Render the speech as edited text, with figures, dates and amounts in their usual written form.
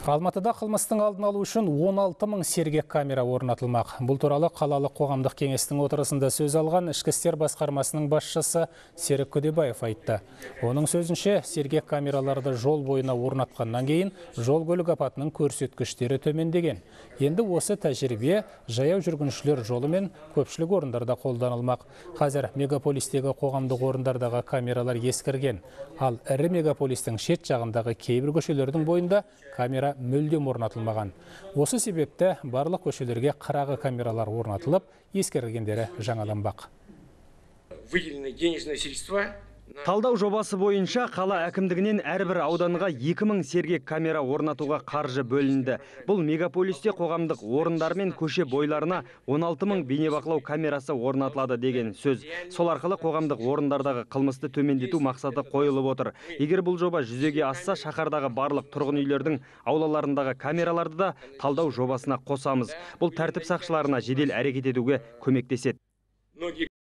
Алматыда қылмыстың алдын алу үшін 16 мың сергек камера орнатылмақ. Бұл туралы қалалық қоғамдық кеңестің отырысында сөз алған ішкі істер басқармасының басшысы Серік Көдебаев айтты. Оның сөзінше, сергек камераларды жол бойына орнатқаннан кейін жол көлік апатының көрсеткіштері төмендеген. Енді осы тәжірибе жаяу жүргіншілер жолы мен көпшілік орындарда қолданылмақ. Қазір мегаполистегі қоғамдық орындардағы камералар ескірген. Ал ірі мегаполистің шет жағындағы кейбір көшелердің бойында камера мүлдем орнатылмаған. Осы себепті барлық көшелерге қырағы камералар орнатылып, ескерілгендері жаңаланбақ. Выделены денежные средства. Талдау жобасы бойынша қала әкімдігінен әрбір ауданға 2000 сергек камера орнатуға қаржы бөлінді. Бұл мегаполисте қоғамдық орындар мен көше бойларына 16 мың бейнебақылау камерасы орнатылады деген сөз. Сол арқылы қоғамдық орындардағы қылмысты төмендету мақсаты қойылып отыр. Егер бұл жоба жүзеге асса, шаһардағы барлық тұрғын үйлердің аулаларындағы камераларды да талдау жобасына қосамыз. Бұл тәртіп сақшыларына жедел әрекет етуге көмектеседі.